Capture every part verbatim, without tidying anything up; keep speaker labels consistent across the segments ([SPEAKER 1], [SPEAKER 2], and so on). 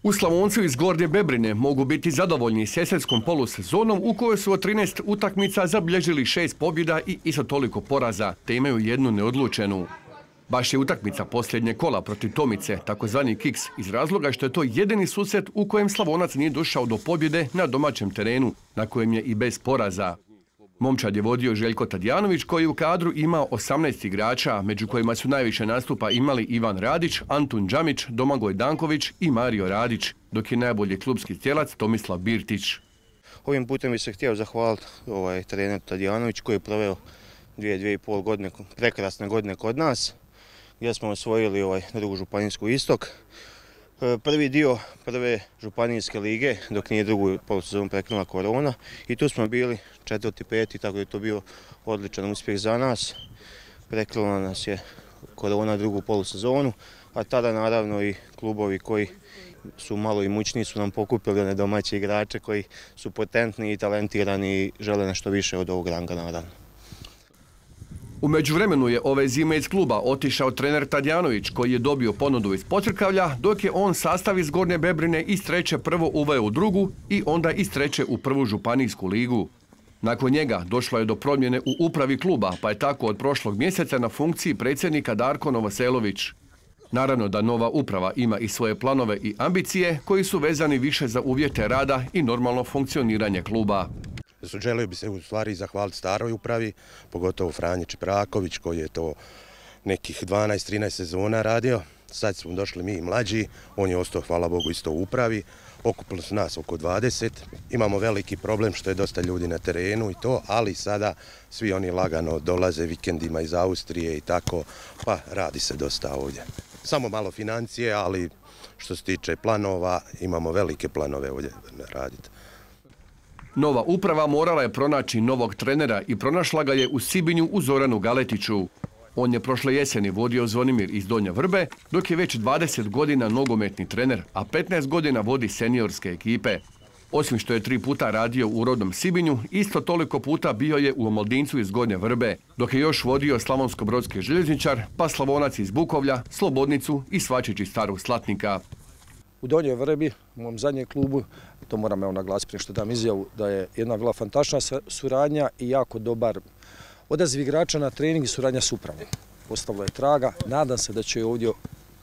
[SPEAKER 1] U Slavoncu iz Gornje Bebrine mogu biti zadovoljni s jesenskom polusezonom u kojoj su od trinaest utakmica zabilježili šest pobjeda i isto toliko poraza, te imaju jednu neodlučenu. Baš je utakmica posljednje kola protiv Tomice, takozvani kiks, iz razloga što je to jedini susret u kojem Slavonac nije došao do pobjede na domaćem terenu, na kojem je i bez poraza. Momčad je vodio Željko Tadijanović koji u kadru imao osamnaest igrača, među kojima su najviše nastupa imali Ivan Radić, Antun Džamić, Domagoj Danković i Mario Radić, dok je najbolji klubski tijelac Tomislav Birtić.
[SPEAKER 2] Ovim putem bih se htio zahvaliti ovaj, trener Tadijanović koji je proveo dvije, dvije i pol godine, prekrasne godine kod nas, gdje smo osvojili ovaj, drugu županijsku istok. Prvi dio prve županijske lige, dok nije drugu polusezonu prekinula korona. I tu smo bili četvrti, peti, tako da je to bio odličan uspjeh za nas. Prekinula nas je korona drugu polusezonu, a tada naravno i klubovi koji su malo imućniji su nam pokupili one domaće igrače koji su potentni i talentirani i žele nešto više od ovog ranga naravno.
[SPEAKER 1] U međuvremenu je ove zime iz kluba otišao trener Tadijanović koji je dobio ponudu iz Pocrkavlja, dok je on sastav iz Gornje Bebrine iz treće prvo uveo u drugu i onda iz treće u prvu županijsku ligu. Nakon njega došlo je do promjene u upravi kluba, pa je tako od prošlog mjeseca na funkciji predsjednika Darko Novoselović. Naravno da nova uprava ima i svoje planove i ambicije koji su vezani više za uvjete rada i normalno funkcioniranje kluba.
[SPEAKER 3] Želio bi se u stvari zahvaliti staroj upravi, pogotovo Franji Čipraković koji je to nekih dvanaest trinaest sezona radio. Sad smo došli mi mlađi, on je ostao, hvala Bogu, isto u upravi. Okupilo su nas oko dvadeset. Imamo veliki problem što je dosta ljudi na terenu i to, ali sada svi oni lagano dolaze vikendima iz Austrije i tako, pa radi se dosta ovdje. Samo malo financije, ali što se tiče planova, imamo velike planove ovdje raditi.
[SPEAKER 1] Nova uprava morala je pronaći novog trenera i pronašla ga je u Sibinju u Zoranu Galetiću. On je prošle jeseni vodio Zvonimir iz Donje Vrbe, dok je već dvadeset godina nogometni trener, a petnaest godina vodi seniorske ekipe. Osim što je tri puta radio u rodnom Sibinju, isto toliko puta bio je u Omoldincu iz Gornje Vrbe, dok je još vodio Slavonsko-brodski željezničar, pa Slavonac iz Bukovlja, Slobodnicu i Svačić iz Starog Slatnika.
[SPEAKER 4] U Donjoj Vrbi, u mom zadnjem klubu, to moram evo naglasiti prije što dam izjavu, da je jedna bila fantastična suradnja i jako dobar odaziv igrača na trening i suradnja s upravom. Ostavilo je traga, nadam se da će ovdje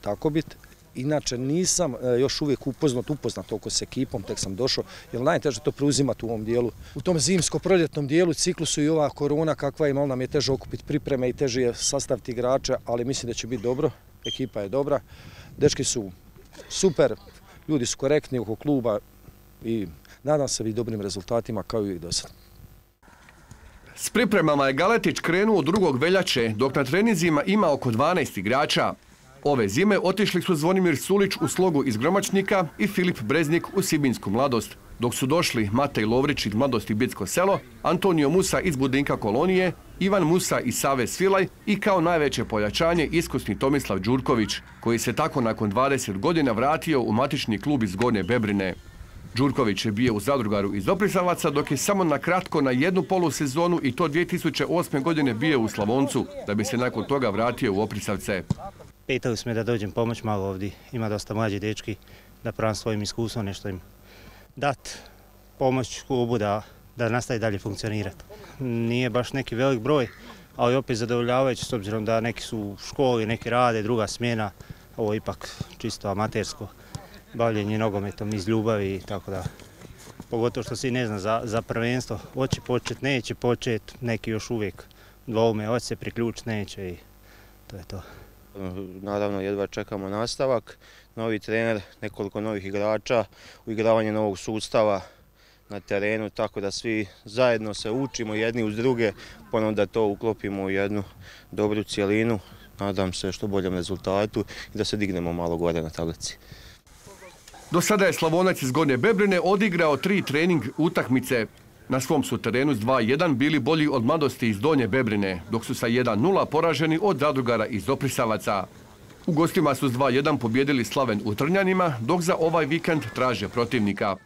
[SPEAKER 4] tako biti. Inače nisam još uvijek upoznat, upoznat oko s ekipom, tek sam došao, jer najteže to preuzimati u ovom dijelu. U tom zimsko-proljetnom dijelu ciklusu i ova korona kakva je, malo nam je teže okupiti pripreme i teže je sastaviti igrače, ali mislim da će biti dobro, ekipa je dobra, dečki su super, ljudi su korektni oko kluba i nadam se i dobrim rezultatima kao i do sad.
[SPEAKER 1] S pripremama je Galetić krenuo drugog veljače, dok na treninzima ima oko dvanaest igrača. Ove zime otišli su Zvonimir Sulić u Slogu iz Gromačnika i Filip Breznik u Sibinsku Mladost, dok su došli Matej Lovrić iz Mladosti Bitsko selo, Antonio Musa iz Budinka Kolonije, Ivan Musa iz Save Svilaj i kao najveće pojačanje iskusni Tomislav Đurković, koji se tako nakon dvadeset godina vratio u matični klub iz Gornje Bebrine. Đurković je bio u Zadrugaru iz Oprisavaca, dok je samo na kratko na jednu polusezonu i to dvije tisuće osme. godine bio u Slavoncu, da bi se nakon toga vratio u Oprisavce.
[SPEAKER 5] Pitali su me da dođem pomoć malo ovdje, ima dosta mlađi dečki, da pravim svojim iskustvom nešto im dat pomoć klubu da, da nastavi dalje funkcionirati. Nije baš neki velik broj, ali opet zadovoljavajući s obzirom da neki su u školi, neki rade, druga smjena, ovo je ipak čisto amatersko bavljenje nogometom iz ljubavi, tako da pogotovo što se ne zna za, za prvenstvo, hoće počet, neće počet, neki još uvijek dvoume, hoće se priključiti, neće i to je to.
[SPEAKER 2] Naravno, jedva čekamo nastavak, novi trener, nekoliko novih igrača, uigravanje novog sustava na terenu, tako da svi zajedno se učimo jedni uz druge, ponovno da to uklopimo u jednu dobru cijelinu, nadam se što boljem rezultatu i da se dignemo malo gore na tablici.
[SPEAKER 1] Do sada je Slavonac iz Gornje Bebrine odigrao tri trening utakmice. Na svom su terenu s dva jedan bili bolji od Mladosti iz Donje Bebrine, dok su sa jedan nula poraženi od Zadrugara iz Oprisavaca. U gostima su s dva jedan pobjedili Slaven u Trnjanima, dok za ovaj vikend traže protivnika.